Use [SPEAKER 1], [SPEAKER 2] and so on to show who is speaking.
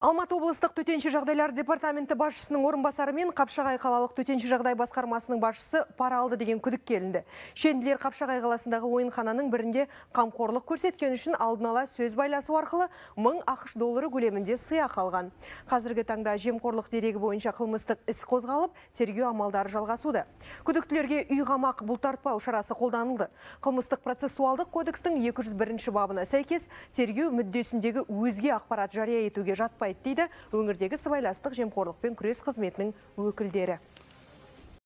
[SPEAKER 1] Алматы облыстық төтенше жағдайлар департаменті басшысының орынбасары мен Қапшағай қалалық төтенше жағдай басқармасының басшысы пара алды деген күдік келінді. Шенділер Қапшағай қаласындағы ойынхананың бірінде қамқорлық көрсеткен үшін алдын ала сөз байласу арқылы 1000 ақш доллары көлемінде сыйақы алған. Қазіргі таңда жемқорлық дерегі бойынша қылмыстық іс қозғалып, тергеу амалдары жалғасуда. Күдіктілерге үй қамақ бұлтартпау шарасы қолданылды. Қылмыстық процессуалдық кодекстің 201 бабына сәйкес тергеу мүддесіндегі өзге ақпарат жария етуге жатпайды дейді өңірдегі сыбайластық жемқорлықпен күрес қызметінің өкілдері.